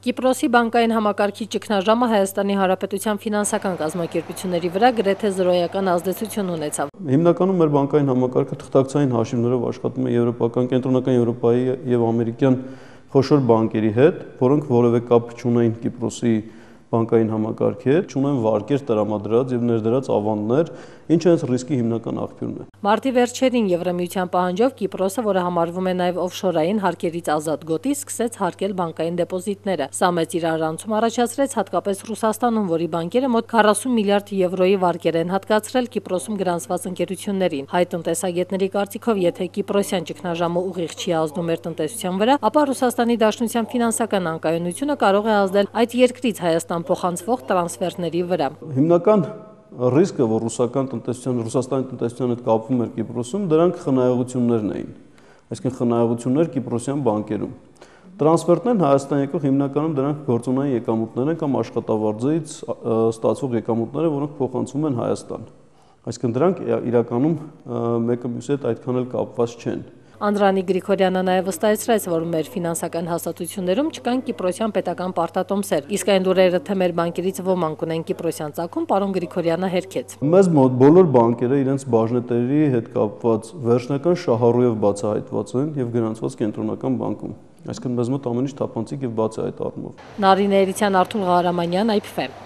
Կիպրոսի բանկային համակարգի ճգնաժամը Հայաստանի Հանրապետության ֆինանսական կազմակերպությունների վրա գրեթե զրոյական ազդեցություն ունեցավ։ Հիմնականում մեր բանկային համակարգը թղթակցային հաշիվներով աշխատում է եվրոպական, կենտրոնական Եվրոպայի եւ ամերիկյան խոշոր բանկերի հետ, որոնք որևէ կապ չունեն Կիպրոսի բանկային համակարգի հետ, չունեն վարկեր տրամադրած եւ ներդրած ավանդներ, ինչը հենց ռիսկի հիմնական աղբյուրն է։ Մարտի վերջերին Եվրամիության պահանջով Կիպրոսը, որը համարվում է նաև օֆշորային հարկերից ազատ գոտի, սկսեց հարկել բանկային դեպոզիտները։ Սա մեծ իրարանցում առաջացրեց հատկապես Ռուսաստանում, որի բանկերը մոտ 40 միլիարդ եվրոյի վարկեր են հատկացրել Կիպրոսում գրանցված ընկերություններին։ Հայ տնտեսագետների կարծիքով, եթե Կիպրոսյան ճգնաժամը ուղիղ չի ազդում մեր տնտեսության վրա, ապա Ռուսաստանի Դաշնության ֆինանսական անկայունությունը կարող է ազդել այդ երկրից Հայաստան փոխանցվող տրանսֆերների վրա։ Հիմնական ռիսկը, որ Ռուսաստանի տնտեսության հետ կապվում էր Կիպրոսում, դրանք խնայողություններն էին, այսինքն խնայողություններ Կիպրոսյան բանկերում։ Տրանսֆերտներն Հայաստան եկող հիմնականում դրանք գործունեային եկամուտներ են կամ աշխատավարձից ստացվող եկամուտներ, որոնք փոխանցվում են Հայաստան։ Այսինքն դրանք իրականում մեկը մյուսի հետ այդքան էլ կապված չեն։ Անդրանիկ Գրիգորյանը նաև վստահեցրեց, որ մեր ֆինանսական հաստատություններում չկան կիպրոսյան պետական պարտատոմսեր, իսկ այն լուրերը, թե մեր բանկերից ոմանք ունեն կիպրոսյան ծագում, պարոն Գրիգորյանը հերքեց։ Մեզ մոտ բոլոր բանկերը իրենց բաժնետերի հետ կապված վերջնական շահառուով բացահայտված են եւ գրանցված կենտրոնական բանկում։ Այսինքն մեզ մոտ ամեն ինչ թափանցիկ եւ բաց է այդ առումով։ Նարինե Էրիցյան, Արթուր Ղարամանյան, IPFM։